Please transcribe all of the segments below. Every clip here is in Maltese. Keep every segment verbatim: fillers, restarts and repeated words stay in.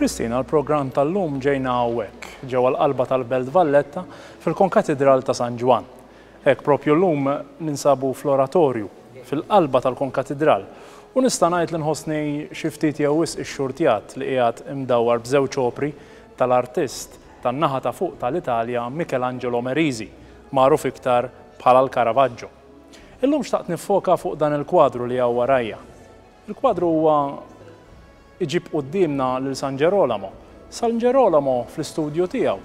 Kristina, l-programm tal-lum ġejna hawnhekk, ġewwa l-qalba tal-Belt Valletta fil-Konkatidral ta' San Ġwann. Hekk propju llum ninsabu fl-oratorju, fil-qalba tal-Konkatidral. U nista' ngħid li nħossni xi ftit jew wisq ixxurtjat li qiegħed imdawwar b'żewġ opri tal-artist tan-naħa ta' fuq tal-Italja Michelangelo Merisi, magħruf iktar bħala l-Caravaggio. Illum xtaqt nifoka fuq dan il-kwadru li hawn warajja. Il-kwadru huwa iġib quddiemna lil San Ġerolamo. San Ġerolamo fl-istudju tiegħu,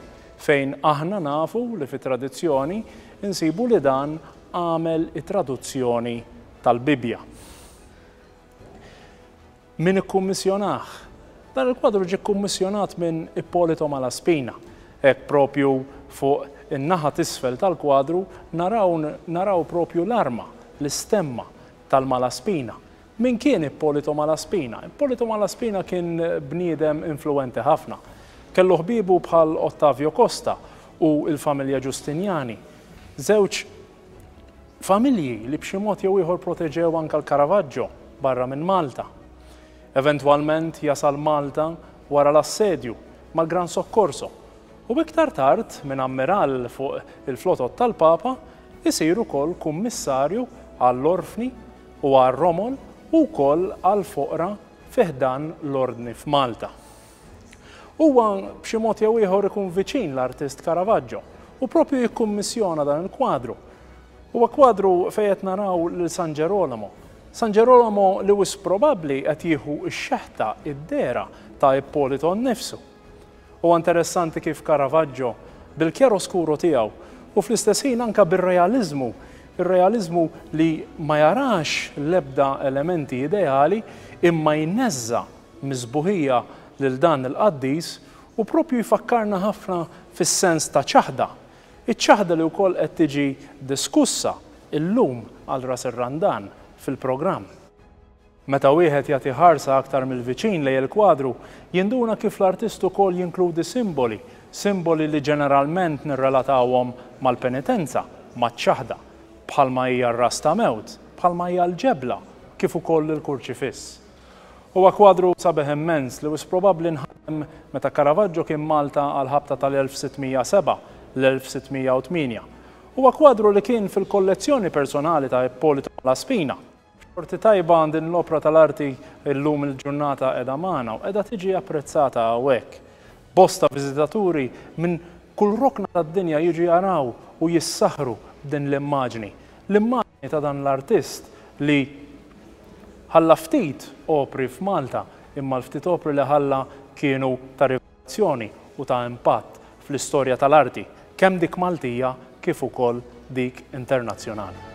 fejn aħna nafu li fit-tradizzjoni insibu li dan għamel it-traduzzjoni tal-Bibbja. Min ikkummissjonah? Dan il-kwadru ġie kkummissjonat minn Ippolito Malaspina. Hekk propju fuq in-naħa t'isfel tal-kwadru naraw, naraw propju l-arma, l-istemma tal-Malaspina. Min kien Ippolito Malaspina? Ippolito Malaspina kien bniedem influenti ħafna. Kellu ħbibu bħal Ottavio Costa u il-familja Giustiniani. Żewġ familji li b'xi mod jew ieħor proteġew anke l-Caravaggio barra minn Malta. Eventwalment jasal Malta wara l-assedju mal-Gran Soccorso. U iktar tard minn ammiral fuq il-flotot tal-Papa isir ukoll kummissarju għall-orfni u għall-romol u wkoll għall-foqra fi ħdan l-ordni f'Malta. Huwa b'xi mod jew ieħor ikun viċin l-artist Caravaggio u propju jikkummissjona dan il-kwadru. Huwa kwadru fejn qed naraw lil San Ġerolamo. San Ġerolamo li wisq probabbli qed jieħu x-xeħta id-dehra ta' Ippolito nnifsu. Huwa interessanti kif Caravaggio bil-chiaroscuro tiegħu u fl-istess ħin anka bir-realizmu, ir-realizmu li ma jarax l-ebda elementi ideali imma jneżża mis-sbuħija lil dan il-qaddis u propju jfakkarna ħafna fis-sens ta' ċaħda. Iċ-ċaħda li wkoll qed tiġi diskussa illum għal ras ir-Randan fil-programm. Meta wieħed jagħti ħarsa aktar mill-viċin lejn il-kwadru, jinduna kif l-artist ukoll jinkludi simboli, simboli li ġeneralment nirrelatawhom mal-penitenza, maċ-ċaħda, bħalma hija r-ras ta' mewt, bħalma hija l-ġebla, kif ukoll il-kurċifiss. Huwa kwadru sabiħ immens li wisq probabbli nħadem meta Caravaggio kien Malta għal ħabta tal-elf sittmija seba' l-elf sittmija u tmienja. Huwa kwadru li kien fil-kollezzjoni personali ta' Ippolito Malaspina. Xorti tajba din l-opra tal-arti illum il-ġurnata qiegħda magħna u qiegħda tiġi apprezzata hawnhekk. Bosta viżitaturi minn kull rokna tad-dinja jiġu jaraw u jissaħru b'din l-immaġni. L-immaġni ta' dan l-artist li ħalla ftit opri f'Malta, imma l-ftit opri li ħalla kienu ta' rivelazzjoni u ta' impatt fl-istorja tal-arti, kemm dik Maltija kif ukoll dik internazzjonali.